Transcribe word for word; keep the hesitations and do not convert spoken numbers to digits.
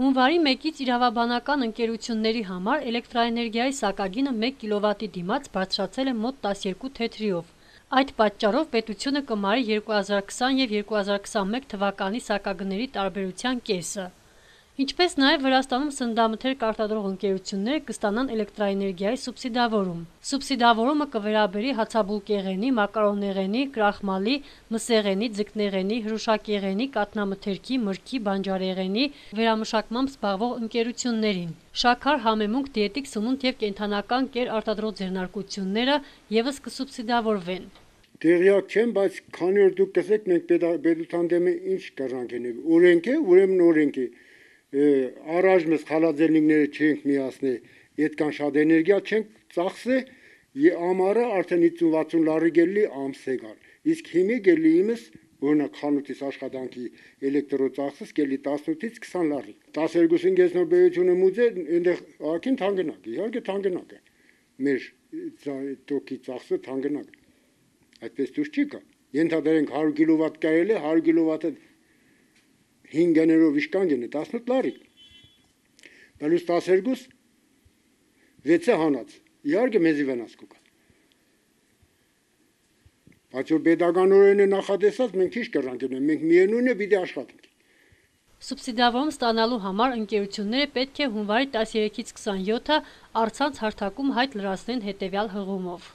Հունվարի մեկից իրավաբանական ընկերությունների համար էլեկտրաէներգիայի սակագինը մեկ կիլովատի դիմաց բարձրացել է մոտ տասներկու թեթրիով։ Այդ պատճառով պետությունը կմարի երկու հազար քսան և երկու հազար քսանմեկ թվականի սակագների տարբերության կեսը։ Ինչպես նաև Վրաստանում սննդամթերք արտադրող ընկերությունները կստանան էլեկտրաէներգիայի սուբսիդավորում։ Սուբսիդավորումը կվերաբերի հացաբուլկեղենի, մակարոնեղենի, կրախմալի, մսեղենի, ձկնեղենի, հրուշակեղենի, կաթնամթերքի, մրգի, բանջարեղենի վերամշակմամբ զբաղվող ընկերություններին։ Շաքար, համեմունք, դիետիկ սնունդ և կենդանական կեր արտադրող ձեռնարկությունները ևս կսուբսիդավորվեն։ Տեղյակ չեմ, բայց քանի որ դուք կսեք, մենք պետության դեմ ինչ կռանք ենք։ Օրենք է, ուրեմն օրենք է։ Առայժմ խալաձելնիկները չենք միացնի, այդքան շատ էներգիա չենք ծախսե, ամառը արդեն հինգ վաթսուն լարի գելի ամսե գալ։ Իսկ հիմի գելի իմս օրինակ խանութիս աշխատանքի էլեկտրոծախսս գելի տասնութից քսան լարի։ տասներկուսին գեսնոր բերությունը մուծե, այնտեղ ակին թանգնակ, իհարկե թանգնակ է։ Մեր տոկի ծախսը թանգնակ։ Այդպես դուրս չի գա։ Ենթադրենք հարյուր կիլովատ կարելի է, հարյուր կիլովատը հինգ գներով իշքան գնի, տասնութ լարի։ Բալուս տասներկուս վեցը հանած։ Իհարկե մեզի վնաս կուկա։ Բայց որ պետականորեն է նախատեսած, մենք ինչ կռանք ենք, մենք միևնույն է պիտի աշխատենք։ Սուբսիդավորում ստանալու համար ընկերությունները պետք է հունվարի տասներեքից քսանյոթը առցանց հարթակում հայտ լրացնեն հետևյալ հղումով։